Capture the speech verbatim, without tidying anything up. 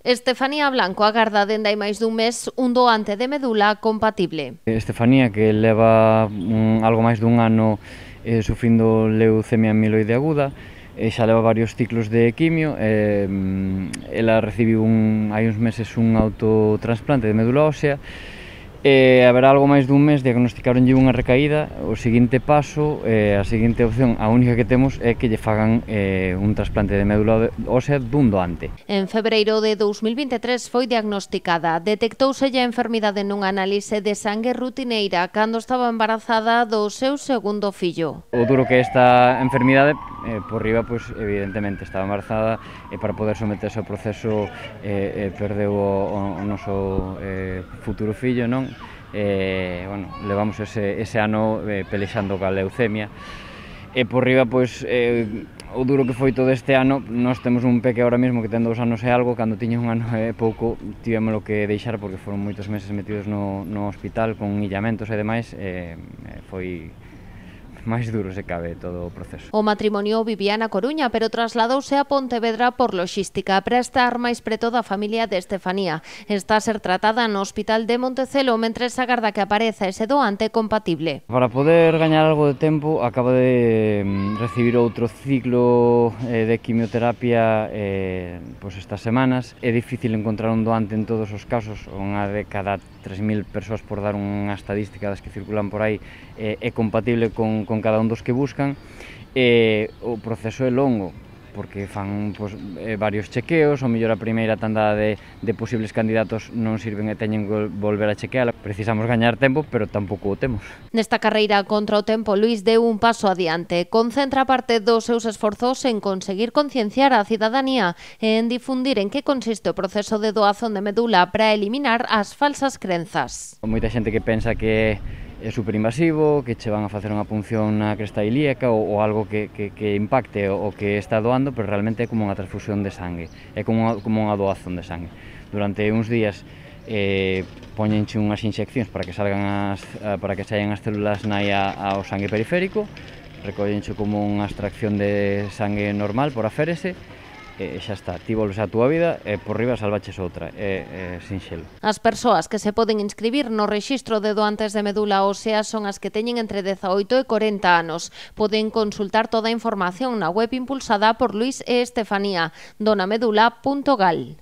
Estefanía Blanco agarda dende hai máis dun mes un doante de medula compatible. Estefanía, que leva un, algo máis dun ano eh, sufrindo leucemia amiloide aguda, e xa leva varios ciclos de quimio. Eh, ela recibiu un, hai uns meses un autotransplante de médula ósea, e haberá algo máis dun mes diagnosticaronlle unha recaída. O seguinte paso, eh, a seguinte opción, a única que temos é que lle fagan eh, un trasplante de médula ósea dun doante. En febreiro de dous mil vinte e tres foi diagnosticada. Detectouse a enfermidade nunha análise de sangue rutineira cando estaba embarazada do seu segundo fillo. O duro que esta enfermidade, eh, por riba, pois, evidentemente, estaba embarazada e para poder someterse ao proceso eh, eh, perdeu o, o noso eh, futuro fillo, non? Eh, bueno, levamos ese, ese ano eh, pelexando ca leucemia, e por riba, pois, eh, o duro que foi todo este ano. Nós temos un peque ahora mesmo que ten dous anos e algo. Cando tiña un ano e pouco tivémolo que deixar porque foron moitos meses metidos no, no hospital con illamentos e demais, e eh, foi máis duro se cabe todo o proceso. O matrimonio vivía na Coruña, pero trasladouse a Pontevedra por loxística para estar máis preto da familia de Estefanía. Está a ser tratada no Hospital de Montecelo mentres agarda que apareza ese doante compatible. Para poder gañar algo de tempo, acaba de recibir outro ciclo eh, de quimioterapia eh, pois estas semanas. É difícil encontrar un doante en todos os casos. Unha de cada tres mil persoas, por dar unha estadística das que circulan por aí, eh, é compatible con con cada un dos que buscan. E o proceso é longo, porque fan pois, eh, varios chequeos. O mellor a primeira tanda de, de posibles candidatos non sirven e teñen que volver a chequeala. Precisamos gañar tempo, pero tampouco o temos. Nesta carreira contra o tempo, Luís deu un paso adiante. Concentra parte dos seus esforzos en conseguir concienciar a cidadanía e en difundir en que consiste o proceso de doazón de medula para eliminar as falsas crenzas. Moita xente que pensa que é superinvasivo, que che van a facer unha punción na cresta ilíaca ou, ou algo que, que, que impacte o, o que está doando, pero realmente é como unha transfusión de sangue, é como unha, como unha doazón de sangue. Durante uns días eh, poñenche unhas inxeccións para que salgan as, para que saian as células nai ao sangue periférico, recollenche como unha extracción de sangue normal por aférese, e xa está, ti volves á túa vida e por riba salvaches outra, é, é sinxelo. As persoas que se poden inscribir no rexistro de doantes de medula ósea son as que teñen entre dezaoito e corenta anos. Poden consultar toda a información na web impulsada por Luís e Estefanía, donamedula punto gal.